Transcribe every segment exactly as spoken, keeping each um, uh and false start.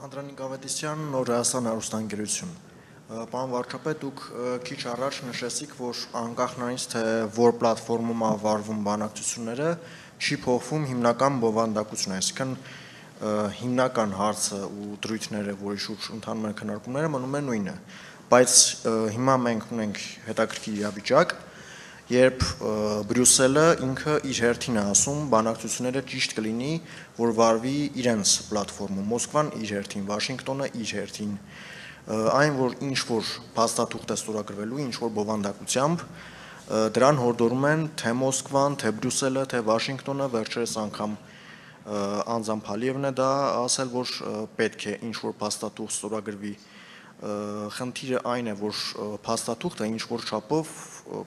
Անդրանիկ Ավետիսյան, Նոր Հայաստան հեռուստաընկերություն։ Պարոն վարչապետ, դուք քիչ առաջ նշեցիք, որ անկախ նրանից, թե որ պլատֆորմում ա վարվում բանակցությունները, չի փոխվում հիմնական բովանդակությունը, այսինքն հիմնական հարցը ու դրույթները, որի շուրջ ընթանում են քննարկումները, մնում է նույնը, բայց հիմա մենք ունենք հետաքրքիր իրավիճակ, երբ Բրյուսելը ինքը իր հերթին է ասում, բանակցությունները ճիշտ կլինի, որ վարվի իրենց պլատֆորմում, Մոսկվան իր հերթին, Վաշինգտոնը իր հերթին, այն, որ ինչ-որ փաստաթուղթ է ստորագրվելու, ինչ-որ բովանդակությամբ, դրան հորդորում են թե Մոսկվան, թե Բրյուսելը, թե Վաշինգտոնը, վերջերս անգամ Անձամ Փալիևն է դա ասել, որ պետք է ինչ-որ փաստաթուղթ ստորագրվի, խնդիրը այն է, որ փաստաթուղթը ինչ-որ չափով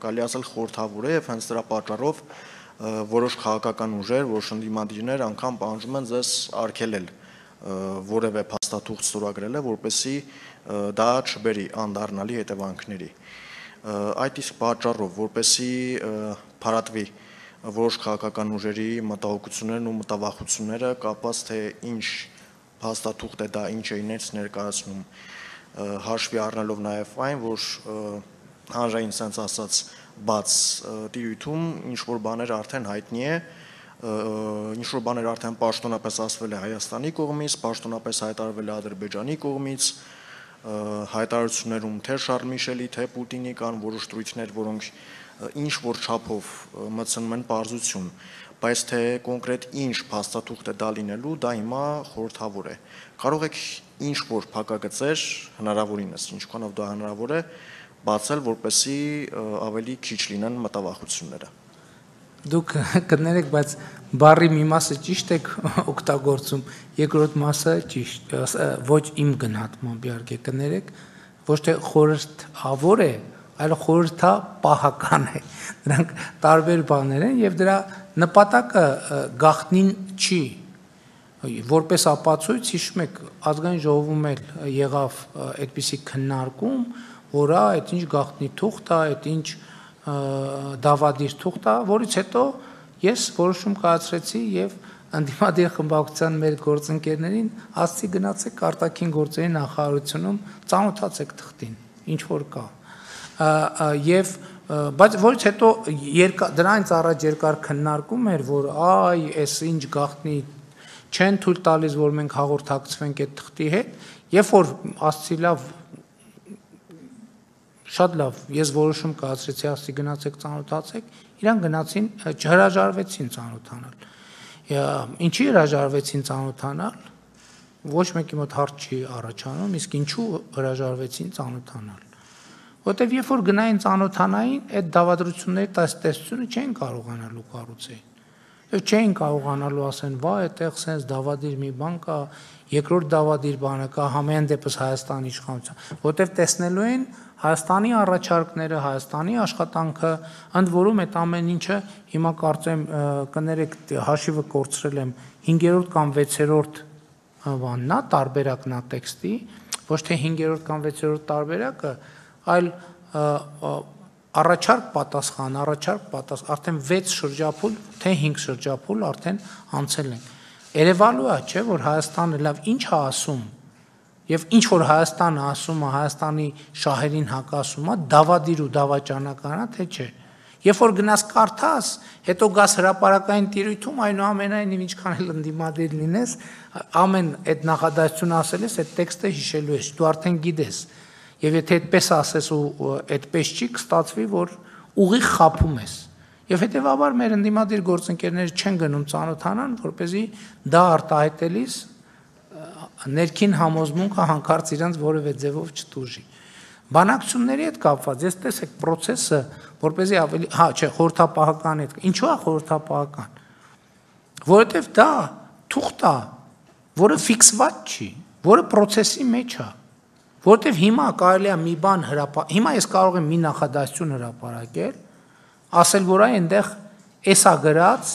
կարելի ասել խորհրդավոր է եւ հենց դրա պատճառով որոշ քաղաքական ուժեր, որոշ ընդդիմադիրներ անգամ պահանջում են ձեզ արգելել որևէ փաստաթուղթ ստորագրելը, որպեսզի դա չբերի անդառնալի հետևանքների։ Այդ իսկ պատճառով, որպեսզի փարատվի որոշ քաղաքական ուժերի մտահոգություններն ու մտավախությունները կապված թե ինչ փաստաթուղթ է դա, ինչ է ինձ ներկայացնում, հաշվի առնելով նաև այն, որ հանրային sense ասած բաց տիրույթում ինչ-որ բաներ արդեն հայտնի է, ինչ-որ բաներ արդեն պաշտոնապես ասվել է Հայաստանի կողմից, պաշտոնապես հայտարարվել է Ադրբեջանի կողմից, հայտարարություններում թե Շարլ Միշելի, թե Պուտինի կան որոշ դրույթներ, որոնք ինչ-որ չափով մտցնում են պարզություն, բայց թե կոնկրետ ինչ փաստաթուղթ է դա լինելու, դա հիմա խորհրդավոր է։ Կարող եք ինչ-որ փակագծեր, հնարավորինս, ինչքանով դա հնարավոր է, բացել, որպեսզի ավելի քիչ լինեն մտավախությունները։ Դուք կներեք, բայց բառի մի մասը ճիշտ եք օգտագործում, երկրորդ մասը ճիշտ, ոչ իմ գնահատմամբ իհարկե կներեք, ոչ թե խորհրդավոր է, այլ խորհրդապահական է։ Դրանք տարբեր բաներ են եւ դրա նպատակը գաղտնին չի։ Որպես ապացույց, հիշում եք, ազգային ժողովում էլ եղավ այդպիսի քննարկում, որ այդ ինչ գաղտնի թուղթ է, այդ ինչ դավադիր թուղթ է, որից հետո ես որոշում կայացրեցի եւ ընդդիմադիր խմբակցության մեր գործընկերներին ասացի գնացեք արտաքին գործերի նախարարությունում ծանոթացեք թղթին, ինչ որ կա։ Եվ բայց որից հետո դրանից առաջ երկար քննարկում էր, որ այ էս ինչ գաղտնի չեն թույլ տալիս, որ մենք հաղորդակցվենք այդ թղթի հետ, երբ որ ասացի լավ, շատ լավ, ես որոշում կայացրեցի, ասացի գնացեք ծանոթացեք, իրան գնացին, չհրաժարվեցին ծանոթանալ։ Ինչի հրաժարվեցին ծանոթանալ, ոչ մեկի մոտ հարց չի առաջանում, իսկ ինչու հրաժարվեցին ծանոթանալ։ Որտեվ երբ որ գնային ծանոթանային, այդ դավադրությունների տեսությունը չէին կարողանալու կառուցել։ Եվ չէին կարողանալու ասեն, վա, այդտեղ sense դավադիր մի բան կա, երկրորդ դավադիր բանը կա, համեն դեպս Հայաստանի իշխանության, որտեվ տեսնելու են Հայաստանի առաջարկները, Հայաստանի աշխատանքը, ընդ որում այդ ամեն ինչը հիմա կարծեմ կներեք հաշիվը կորցրել եմ հինգերորդ կամ վեցերորդ բանն է, տարբերակն է տեքստի, ոչ թե հինգերորդ կամ վեցերորդ տարբերակը, այլ առաջարկ պատասխան, առաջարկ պատասխան, արդեն վեց շրջափուլ, թե հինգ շրջափուլ արդեն անցել են։ Երևալու է, չէ, որ Հայաստանը լավ ինչ է ասում, եւ ինչ որ Հայաստանը ասում է, Հայաստանի շահերին հակասում է, դավադիր ու դավաճանական է, թե չէ։ Երբ որ գնաս կարդաս, հետո գաս հրապարակային տիրույթում, այնուամենայնիվ ինչքան էլ ընդդիմադիր լինես, ամեն այդ նախադասությունը ասել ես, այդ տեքստը հիշելու ես, դու արդեն գիտես։ Եվ եթե այդպես ասես ու այդպես չի, կստացվի, որ ուղիղ խափում ես։ Եվ հետեւաբար մեր ընդդիմադիր գործընկերները չեն գնում ծանոթանան, որպեսզի դա արտահայտելիս ներքին համոզմունքը հանկարծ իրանց որևէ ձևով չտուժի։ Բանակցությունների հետ կապված, ես տեսեք process-ը, որպեսզի ավելի, հա, չէ, խորհրդապահական հետ, ինչու է խորհրդապահական։ Որովհետև դա թուղթ է, որը ֆիքսված չի, որը process-ի մեջ է։ Որտեվ հիմա կարելի է մի բան հրապարակել, հիմա ես կարող եմ մի նախադասություն հրապարակել, ասել, որ այնտեղ էսա գրած,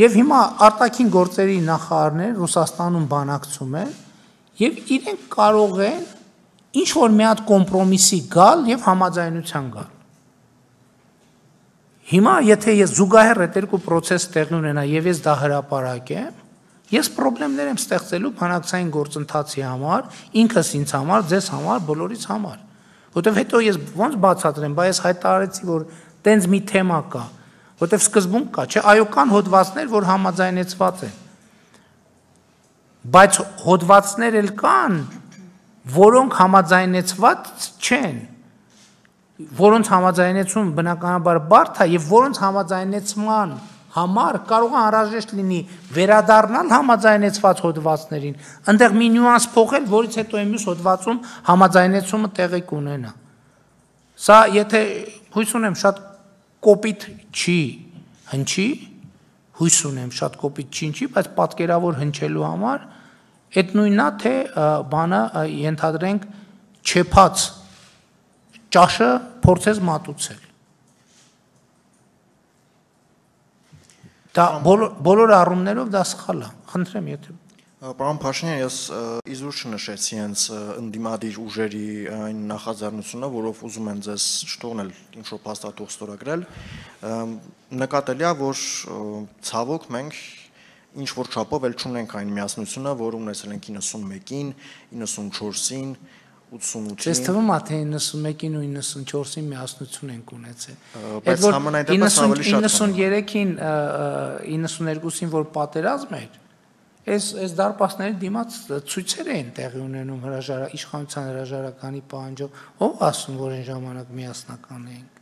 եւ հիմա արտաքին գործերի նախարարներ Ռուսաստանում բանակցում են, եւ իրենք կարող են ինչ որ մի հատ կոմպրոմիսի գալ եւ համաձայնության գալ։ Հիմա եթե ես զուգահեռ այդ երկու process տեղի ունենա եւ ես դա հրապարակեմ, Ես խնդիրներ եմ ստեղծելու բանակցային գործընթացի համար, ինքս ինձ համար, ձեզ համար, բոլորիս համար։ Որտեվ հետո ես ոնց բացատրեմ, բայց ես հայտարարեցի, որ տենց մի թեմա կա, որտեվ սկզբում կա, չէ, այո, կան հոդվածներ, որ համաձայնեցված են։ Բայց հոդվածներ էլ կան, որոնք համաձայնեցված չեն, որոնց համաձայնեցում բնականաբար բարդ է եւ որոնց համաձայնեցման համար կարող է անհրաժեշտ լինի վերադառնալ համաձայնեցված հոդվածներին, այնտեղ մի նյուանս փոխել, որից հետո մյուս հոդվածում համաձայնեցումը տեղի կունենա։ Սա եթե հույս ունեմ շատ կոպիտ չի հնչի, հույս ունեմ շատ կոպիտ չի հնչի, բայց պատկերավոր հնչելու համար այդ նույնն է, թե բանը ենթադրենք չեփած ճաշը փորձես մատուցել։ Դա բոլոր առումներով դա սխալ է։ Խնդրեմ, եթե Պարոն Փաշինյան, ես իզուր չնշեցի հենց ընդդիմադիր ուժերի այն նախաձեռնությունը, որով ուզում են ձեզ չթողնել ինչ-որ փաստաթուղթ ստորագրել, նկատելի է, որ ցավոք մենք ինչ-որ չափով էլ չունենք այն միասնությունը, որ ունեցել ենք իննսունմեկին, իննսունչորսին, ութսունութին։ Ձեզ թվում է, թե իննսունմեկին ու իննսունչորսին միասնություն ենք ունեցել։ Բայց համենայնդեպս ավելի շատ իննսուներեքին, իննսուներկուսին, որ պատերազմ էր, Այս այս դարպասների դիմաց ցույցեր էին տեղի ունենում հրաժարակ իշխանության հրաժարականի պահանջով, ով ասում, որ այն ժամանակ միասնական էինք։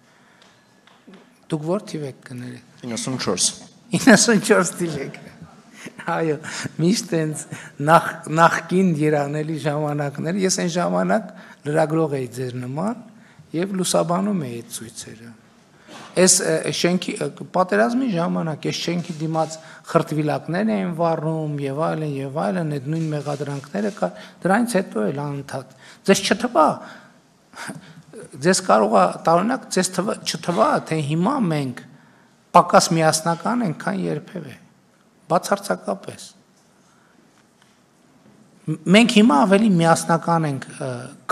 Դուք ո՞ր թիվ եք կներեք։ իննսունչորս իննսունչորս թիվ եք։ Այո, միշտ այնց նախ նախքին երանելի ժամանակներ, ես այն ժամանակ լրագրող էի ձեր նման եւ լուսաբանում էի այդ ցույցերը։ Այս շենքի պատերազմի ժամանակ այս շենքի դիմաց խրտվիլակներ էին վառում եւ այլն եւ այլն, այդ նույն մեղադրանքները կա, դրանից հետո էլ անընդհատ։ Ձեզ չթվա, ձեզ կարող է տարօրինակ ձեզ չթվա, թե հիմա մենք պակաս միասնական ենք, քան երբևէ։ Բացարձակապես։ Մենք հիմա ավելի միասնական ենք,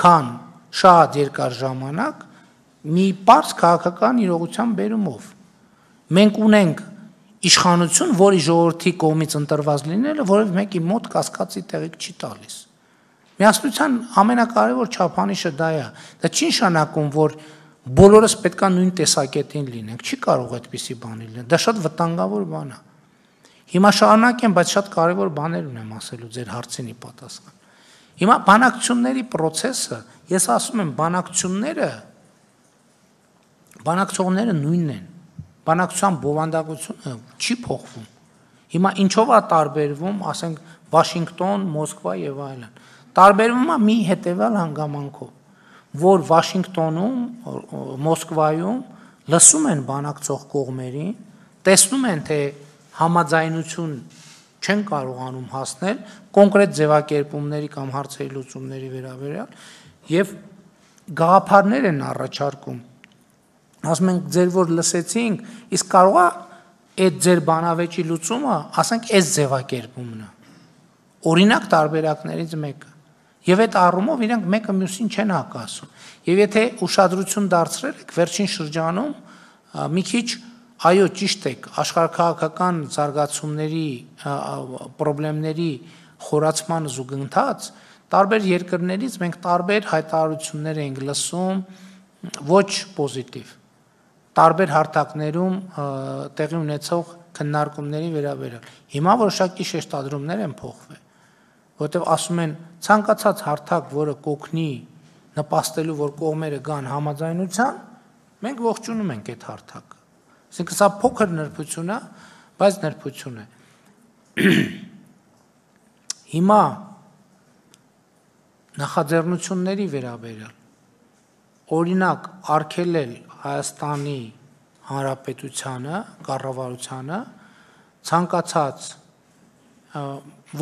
քան շատ երկար ժամանակ մի պարզ քաղաքական իրողության բերումով։ Մենք ունենք իշխանություն, որի ժողովրդի կողմից ընտրված լինելը որևէ մեկի մոտ կասկածի տեղիք չի տալիս։ Միասնության ամենակարևոր չափանիշը դա է։ Դա չի նշանակում, որ բոլորս պետք է նույն տեսակետին լինենք։ Չի կարող այդպիսի բան լինել։ Դա շատ վտանգավոր բան է։ Հիմա շարունակեմ, բայց շատ կարևոր բաներ ունեմ ասելու ձեր հարցին ի պատասխան։ Հիմա բանակցությունների process-ը, ես ասում եմ, բանակցությունները Բանակցողները նույնն են, բանակցության բովանդակությունը չի փոխվում, հիմա ինչով է տարբերվում, ասենք Վաշինգտոն, Մոսկվա եւ այլն, տարբերվում է մի հետեւյալ հանգամանքով, որ Վաշինգտոնում, Մոսկվայում լսում են բանակցող կողմերին, տեսնում են, թե համաձայնություն չեն կարողանում հասնել կոնկրետ ձևակերպումների կամ հարցերի լուծումների վերաբերյալ եւ գաղափարներ են առաջարկում ասում ենք ձեր որ լսեցինք, իսկ կարող է այդ ձեր բանավեճի լուծումը, ասենք, այս ձևակերպումն է։ Օրինակ տարբերակներից մեկը։ Եվ այդ առումով իրենք մեկը մյուսին չեն հակասում։ Եվ եթե ուշադրություն դարձրել եք վերջին շրջանում, մի քիչ այո, ճիշտ եք, աշխարհաքաղաքական զարգացումների, խնդիրների խորացման զուգընթաց, տարբեր երկրներից մենք տարբեր հայտարարություններ ենք լսում, ոչ պոզիտիվ։ Տարբեր հարթակներում տեղի ունեցող քննարկումների վերաբերյալ։ Հիմա որոշակի շեշտադրումներ են փոխվել, որտեղ ասում են ցանկացած հարթակ, որը կօգնի նպաստելու, որ կողմերը գան համաձայնության, մենք ողջունում ենք այդ հարթակը։ Այսինքն սա փոքր նրբություն է, բայց նրբություն է։ Հիմա նախաձեռնությունների վերաբերյալ օրինակ արգելել Հայաստանի Հանրապետությանը, կառավարությանը ցանկացած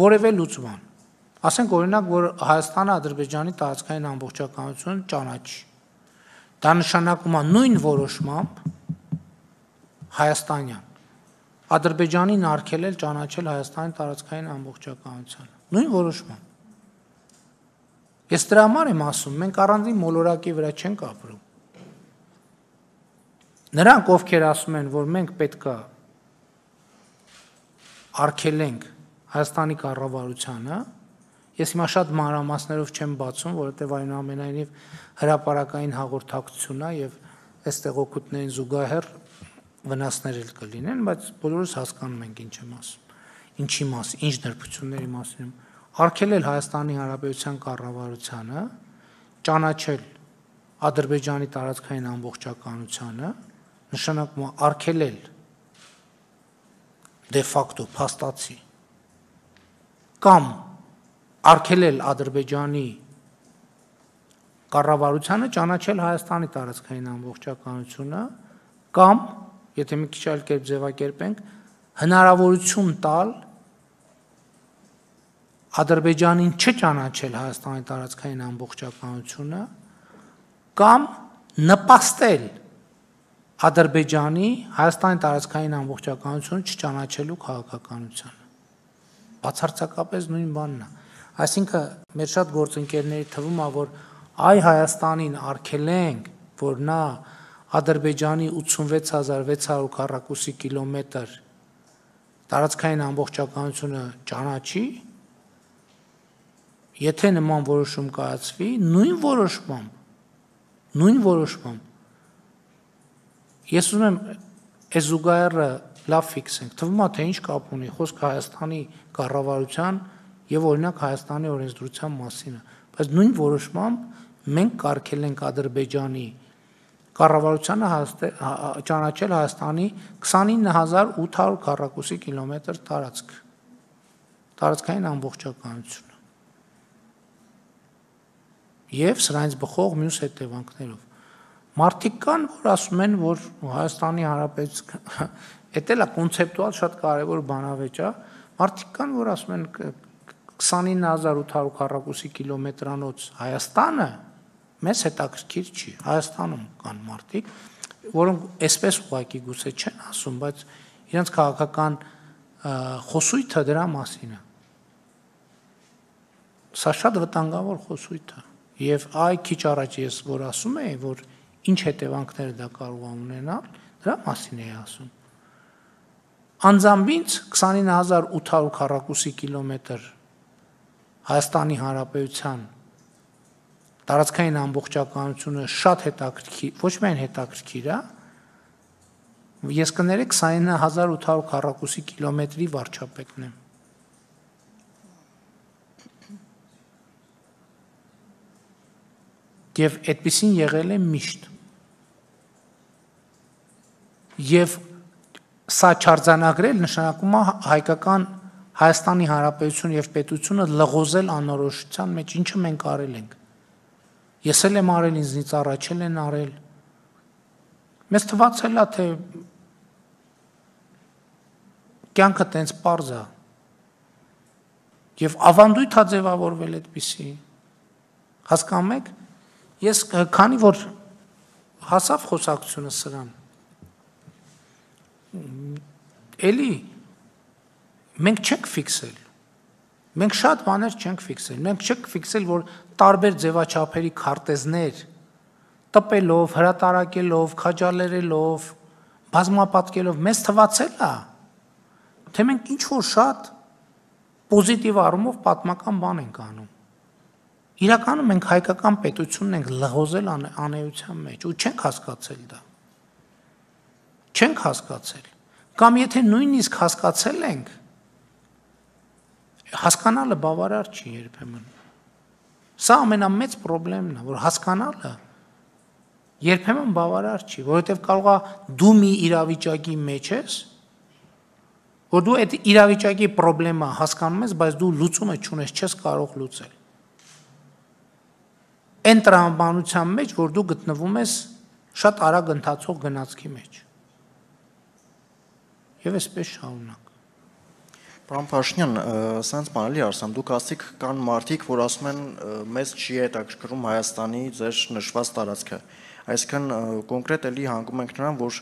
որևէ լուծման։ Ասենք օրինակ, որ Հայաստանը Ադրբեջանի տարածքային ամբողջականությունը ճանաչի։ Դա նշանակում է նույն որոշմամբ հայաստանյան Ադրբեջանին արգելել ճանաչել Հայաստանի տարածքային ամբողջականությունը։ Նույն որոշմամբ։ Ես դրա համար եմ ասում, մենք առանձին մոլորակի վրա չենք ապրում։ Նրանք, ովքեր ասում են, որ մենք պետք է արգելենք Հայաստանի կառավարությանը, ես հիմա շատ մանրամասներով չեմ բացում, որովհետև այնուամենայնիվ հրապարակային հաղորդակցություն է եւ այստեղ օգուտներին զուգահեռ վնասներ էլ կլինեն, բայց բոլորս հասկանում ենք ինչ եմ ասում, ինչի մասին, ինչ նրբությունների մասին, արգելել Հայաստանի Հանրապետության կառավարությանը, ճանաչել Ադրբեջանի տարածքային ամբողջականությանը, նշանակում է արգելել դե ֆակտո փաստացի կամ արգելել Ադրբեջանի կառավարությանը ճանաչել Հայաստանի տարածքային ամբողջականությունը կամ, եթե մի քիչ այլ կերպ ձևակերպենք, հնարավորություն տալ Ադրբեջանին չճանաչել Հայաստանի տարածքային ամբողջականությունը կամ նպաստել Ադրբեջանի Հայաստանի տարածքային ամբողջականությունը չճանաչելու քաղաքականությանը։ Բացարձակապես նույն բանն է։ Այսինքն մեր շատ գործընկերների թվում է, որ այ Հայաստանին արգելենք, որ նա Ադրբեջանի ութսունվեց հազար վեց հարյուր քառակուսի կիլոմետր տարածքային ամբողջականությունը ճանաչի, եթե նման որոշում կայացվի, նույն որոշմամբ, նույն որոշմամբ, ես ուզում եմ այս զուգահեռը լավ ֆիքսենք, թվում է, թե ինչ կապ ունի խոսք Հայաստանի կառավարության եւ օրինակ Հայաստանի օրենսդրության մասին է, բայց նույն որոշմամբ մենք կարգելենք Ադրբեջանի կառավարությանը ճանաչել Հայաստանի քսանինը հազար ութ հարյուր քառակուսի կիլոմետր տարածք, տարածքային ամբողջականությունը եւ սրանից բխող մյուս հետևանքներով։ Մարդիկ կան, որ ասում են, որ Հայաստանի Հանրապետության, դա էլ է կոնցեպտուալ շատ կարևոր բանավեճ է, մարդիկ կան, որ ասում են քսանինը հազար ութ հարյուր քառակուսի կիլոմետրանոց Հայաստանը մեզ հետաքրքիր չի, Հայաստանում կան մարդիկ, որոնք այսպես ուղղակի գուցե չեն ասում, բայց իրենց քաղաքական խոսույթը դրա մասին է։ Սա շատ վտանգավոր խոսույթ է։ Եվ այ քիչ առաջ ես որ ասում էի, որ ինչ հետևանքներ դա կարող է ունենալ, դրա մասին էի ասում։ Անձամբ ինձ քսանինը հազար ութ հարյուր քառակուսի կիլոմետր Հայաստանի Հանրապետության տարածքային ամբողջականությունը շատ հետաքրքիր, ոչ միայն հետաքրքիր է, ես կներեք քսանինը հազար ութ հարյուր քառակուսի կիլոմետրի վարչապետն եմ։ Եվ այդպեսին եղել է միշտ։ Եվ սա չարձանագրել նշանակում է հայկական Հայաստանի Հանրապետություն եւ պետությունը լղոզել անորոշության մեջ, ինչը մենք արել ենք։ Ես էլ եմ արել, ինձնից առաջ էլ են արել։ Մեզ թվացել է, թե կյանքը տենց պարզ է։ Եվ ավանդույթ է ձևավորվել այդպիսի։ Հասկանում եք։ Ես քանի որ հասավ խոսակցությունը սրան, էլի մենք չենք ֆիքսել, մենք շատ բաներ չենք ֆիքսել, մենք չենք ֆիքսել, որ տարբեր ձևաչափերի քարտեզներ տպելով, հրատարակելով, քաջալերելով, բազմապատկելով, մեզ թվացել է, թե մենք ինչ-որ շատ պոզիտիվ առումով պատմական բան ենք անում։ Իրականում մենք հայկական պետությունն ենք լղոզել անեության մեջ ու չենք հասկացել դա։ Չենք հասկացել։ Կամ եթե նույնիսկ հասկացել ենք, հասկանալը բավարար չի երբեմն։ Սա ամենամեծ խնդիրն է, որ հասկանալը երբեմն բավարար չի, որովհետև կարող է դու մի իրավիճակի մեջ ես, որ դու այդ իրավիճակի խնդրը հասկանում ես, բայց դու լուծումը չունես, չես կարող լուծել։ Այն տրամաբանության մեջ, որ դու գտնվում ես շատ արագ ընթացող գնացքի մեջ։ Եվ այսպես շարունակ։ Պարոն Փաշինյան, սենց բան էլի ասեմ, դուք ասիք կան մարդիկ, որ ասում են մեզ չի հետաքրքրում Հայաստանի ձեր նշված տարածքը։ Այսինքն կոնկրետ էլի հանգում ենք նրան, որ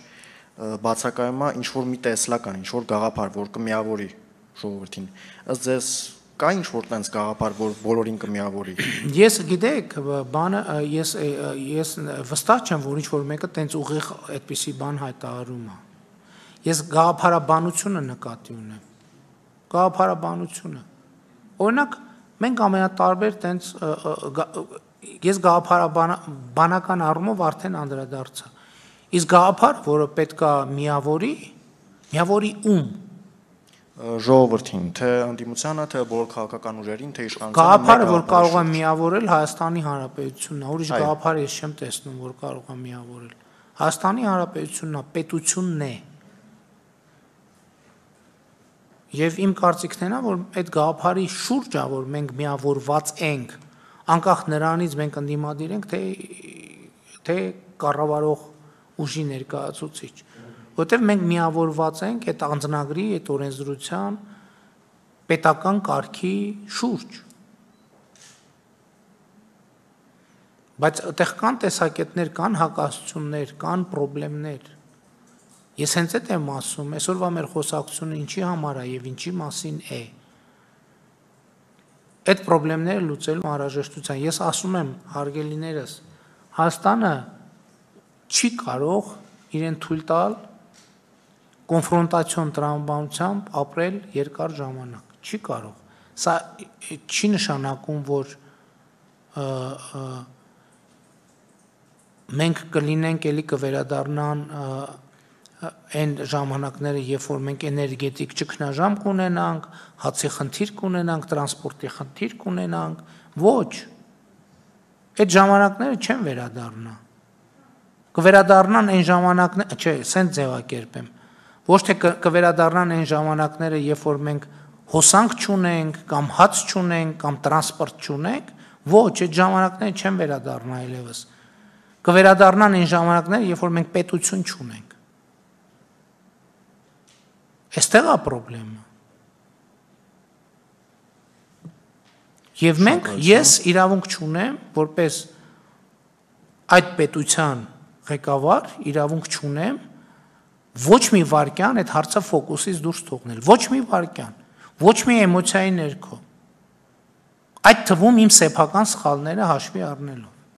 բացակայում է ինչ որ մի տեսլական, ինչ որ գաղափար, որ կմիավորի ժողովրդին։ Ըստ ձեզ կա ինչ որ տենց գաղափար, որ բոլորին կմիավորի։ Ես գիտեք, բանը ես ես վստահ չեմ, որ ինչ որ մեկը տենց ուղիղ այդպիսի բան հայտարարում է։ Ես գաղափարաբանությունը նկատի ունեմ։ գաղափարաբանությունը։ Օրինակ, մենք ամենատարբեր տենց ես գաղափարաբանական առումով արդեն անդրադարձա։ Իսկ գաղափար, որը պետքա միավորի, միավորի ում ժողովրդին, թե ընդդիմությանը, թե բոլոր քաղաքական ուժերին, թե իշխանությանը։ Գաղափարը, որ կարող է միավորել Հայաստանի Հանրապետությունն է, ուրիշ գաղափար ես չեմ տեսնում, որ կարող է միավորել։ Հայաստանի Հանրապետությունն է, պետությունն է։ Եվ իմ կարծիքն է, որ այդ գաղափարի շուրջը, որ մենք միավորված ենք, անկախ նրանից մենք ընդդիմադիր ենք, թե թե կառավարող ուժի ներկայացուցիչ, որտեղ մենք միավորված ենք այդ անձնագրի, այդ օրենսդրության պետական կարգի շուրջ։ Բայց այդտեղ կան տեսակետներ, կան հակասություններ, կան խնդիրներ։ Ես հենց այդ եմ ասում, այսօրվա մեր խոսակցությունը ինչի համար է եւ ինչի մասին է։ Այդ խնդիրները լուծելու անհրաժեշտության։ Ես ասում եմ, հարգելիներս, Հայաստանը չի կարող իրեն թույլ տալ կոնֆրոնտացիոն տրամաբանությամբ ապրել երկար ժամանակ։ Չի կարող։ Սա չի նշանակում, որ մենք կլինենք, էլի կվերադառնան այն ժամանակները, երբ որ մենք էներգետիկ ճգնաժամ կունենանք, հացի խնդիր կունենանք, տրանսպորտի խնդիր կունենանք, ոչ։ Այդ ժամանակները չեն վերադառնա։ Կվերադառնան այն ժամանակները, չէ, սենց ձևակերպեմ։ Ոչ թե կվերադառնան այն ժամանակները, երբ որ մենք հոսանք չունենք, կամ հաց չունենք, կամ տրանսպորտ չունենք, ոչ, այդ ժամանակները չեն վերադառնա այլևս։ Կվերադառնան այն ժամանակները, երբ որ մենք պետություն չունենք։ Այստեղ է խնդրեմը։ Եվ մենք, ես իրավունք չունեմ, որպես այդ պետության ղեկավար, իրավունք չունեմ ոչ մի վարքյան այդ հարցը ֆոկուսից դուրս թողնել, ոչ մի վարքյան, ոչ մի էմոցիայի ներքո, այդ թվում իմ սեփական սխալները հաշվի առնելով։